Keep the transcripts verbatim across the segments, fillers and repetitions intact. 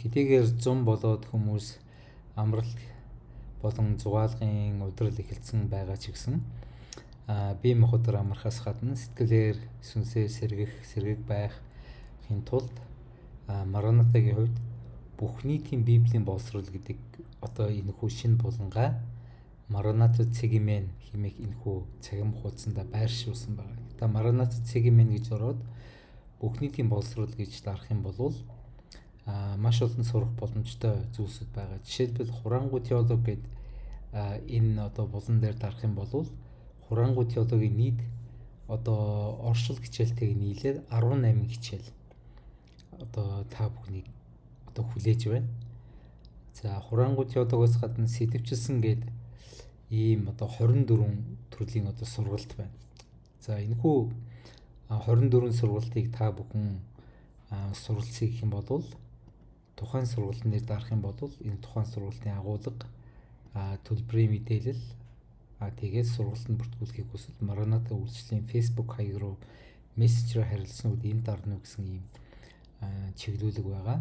хэдийгээр зам болоод хүмүүс амралт болон зугаалгын удрал эхэлсэн байгаа ч гэсэн бие махбодоор амрахаас гадна сэтгэлээр сүнсээр сэргэх, сэргэг байхын тулд Маранатагийн хувьд бүх нийтийн Библийн боловсрол гэдэг одоо энэхүү шинэ булангаа Мараната цэгмэн хэмээх энэхүү цагим хуудсанда байршуулсан байна. Та Мараната цэгмэн гэж ороод бүх нийтийн боловсрол гэж дарах юм бол а маш олон сурах боломжтой зүйлсүүд байгаа. Жишээлбэл хураангуй теолог гэдэг энэ одоо булан дээр дарах юм бол хураангуй теологийн нийт одоо оршил хичээлтэйг нийлээд арван найман хичээл одоо та бүхнийг одоо хүлээж байна. За хураангуй теологоос гадна сэтвчилсэн гэдэг ийм одоо хорин дөрвөн төрлийн одоо сургалт байна. За энэхүү хорин дөрвөн сургалтыг та бүхэн суралцъя гэх юм бол тухайн сургалтын дээр дарах юм бол энэ тухайн сургалтын агуулга төлбөрийн мэдээлэл а тэгээд сургалтанд бүртгүүлэхийг хүсвэл Мараната үйлчлэлийн Facebook хаяг руу мессежээр харилцсан үед энэ дарна уу гэсэн ийм чиглүүлэг байгаа.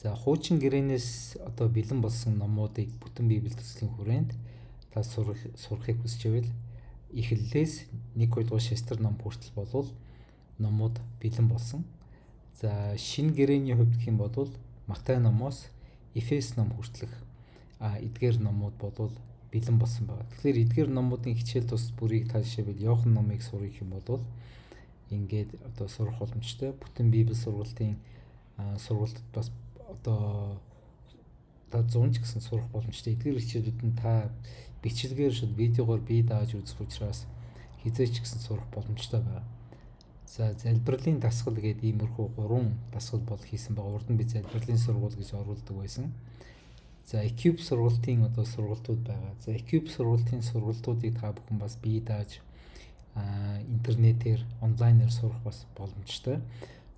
За хуучин гэрээнээс одоо бэлэн болсон номуудыг бүтэн Библи төслийн хүрээнд та сурах сурахыг хүсч байвал эхлэлээс нэг хоёр дугаар шестер ном хүртэл болвол номууд бэлэн болсон. За шинэ гэрээний хувьд гэх юм бол Матай номоос Эфес ном хүртэлх эдгээр номууд болвол бэлэн болсон байна. Тэгэхээр эдгээр номуудын хичээл тус бүрийг та жишээлбэл Иохан номыг сурах юм бол ингээд одоо сурах боломжтой. Бүтэн Библи сургалтын сургалтад бас одоо та зунж гэсэн сурах боломжтой. Эдгээр хичээлүүд нь та бичлэгээр шууд видеогоор бие дааж үзэх учраас хизээч гэсэн сурах боломжтой байна. За залбирлын дасгал гэдэг иймэрхүү гурван дасгал бол хийсэн байгаа. Урд нь би залбирлын сургууль гэж оруулдаг байсан. За Экюб сургалтын одоо сургалтууд байгаа. За Экюб сургалтын сургалтуудыг та бүхэн бас бие дааж интернетээр онлайнаар сурах бас боломжтой.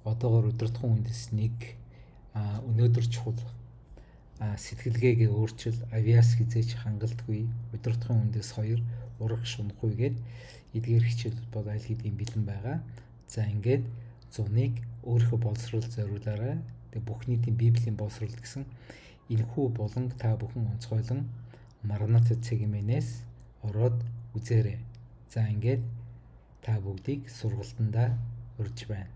Одоогоор удирдахуун үндэс нэг өнөөдөр чухал сэтгэлгээгээ өөрчил авиас хизээч хангалтгүй удирдахуун үндэс хоёр урах шунахгүй гээд эдгээр хичээлүүд бол аль хэдийн бэлэн байгаа. За ингээд зуныг өөрийнхөө боловсрол зориулаарай. Тэгээ бүх нийтийн Библийн боловсрол гэсэн энэхүү буланг та бүхэн онцгойлон Мараната цэгмэнээс ороод үзээрэй. За ингээд та бүгдийг сургалтандаа урьж байна.